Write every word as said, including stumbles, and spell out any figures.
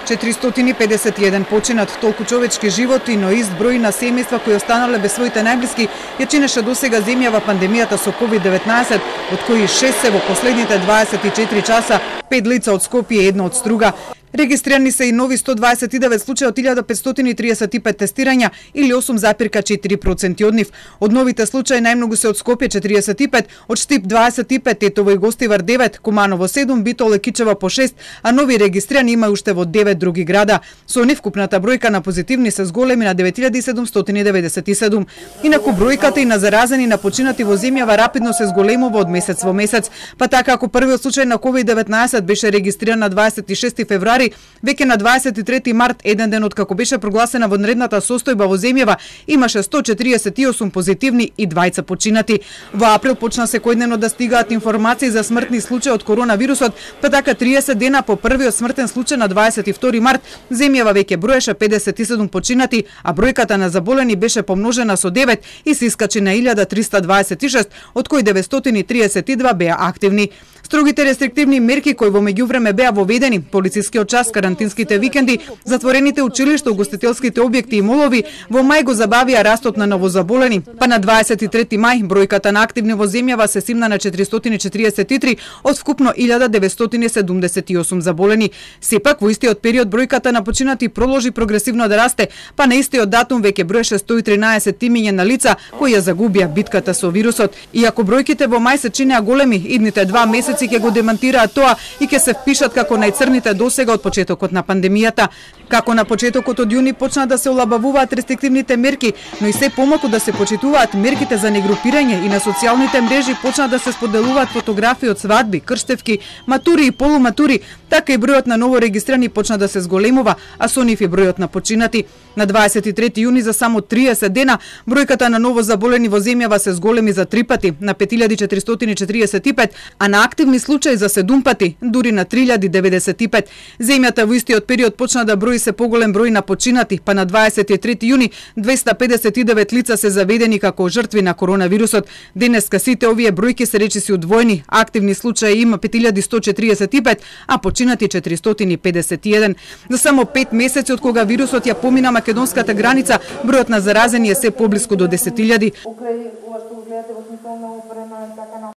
четиристотини педесет и еден починат, толку човечки животи, но ист број на семејства кои останале без своите најблиски ја чинеше досега земјава пандемијата со ковид деветнаесет, од кои шест се во последните дваесет и четири часа, пет лица од Скопје, едно од Струга. Регистрирани се и нови сто дваесет и девет случаи од илјада петстотини триесет и пет тестирања или осум запирка четири проценти од нив. Од новите случаи најмногу се од Скопје четириесет и пет, од Штип дваесет и пет, Тетово и Гостивар девет, Куманово седум, Битол и Кичево по шест, а нови регистрирани има уште во девет други града. Со нив вкупната бројка на позитивни се зголеми на девет илјади седумстотини деветдесет и седум. Инаку бројката и на заразени на починати во земјава рапидно се зголемува од месец во месец, па така ако првиот случај на ковид деветнаесет беше регистриран на дваесет и шести февруари, веќе на дваесет и трети март, еден ден од како беше прогласена вонредната состојба во земјава, имаше сто четириесет и осум позитивни и двајца починати. Во април почна секојдневно да стигаат информации за смртни случаи од коронавирусот, па така триесет дена по првиот смртен случај на дваесет и втори март, земјава веќе броеше педесет и седум починати, а бројката на заболени беше помножена со девет и се искачи на илјада триста дваесет и шест, од кои деветстотини триесет и два беа активни. Строгите рестриктивни мерки кои во меѓувреме беа воведени, полицискиот час, карантинските викенди, затворените училишта, угостителските објекти и молови, во мај го забавија растот на новозаболени, па на дваесет и трети мај бројката на активни во земјава се симна на четиристотини четириесет и три од вкупно илјада деветстотини седумдесет и осум заболени. Сепак во истиот период бројката на починати проложи прогресивно да расте, па на истиот датум веќе броеше сто и тринаесет имиња на лица кои ја загубија битката со вирусот. Иако бројките во мај се чинеа големи, идните два месеци ќе го демантираат тоа и ќе се впишат како најцрните досега од почетокот на пандемијата. Како на почетокот од јуни почна да се олабавуваат рестриктивните мерки, но и се помалку да се почитуваат мерките за негрупирање и на социјалните мрежи почна да се споделуваат фотографии од свадби, крштевки, матури и полуматури, така и бројот на ново регистрирани почна да се зголемува, а со нив и бројот на починати. На дваесет и трети јуни за само триесет дена бројката на ново заболени во земјава се зголеми за три пати, на пет илјади четиристотини четириесет и пет, а на активни случаи за седум пати, дури на три илјади деветдесет и пет. Земјата во истиот период почна да брои се поголем број на починати, па на дваесет и трети јуни двеста педесет и девет лица се заведени како жртви на коронавирусот. Денеска сите овие бројки се речиси удвоени, активни случаи има пет илјади сто четириесет и пет, а починати четиристотини педесет и еден. За само пет месеци од кога вирусот ја помина македонската граница, бројот на заразени е се поблиску до десет илјади.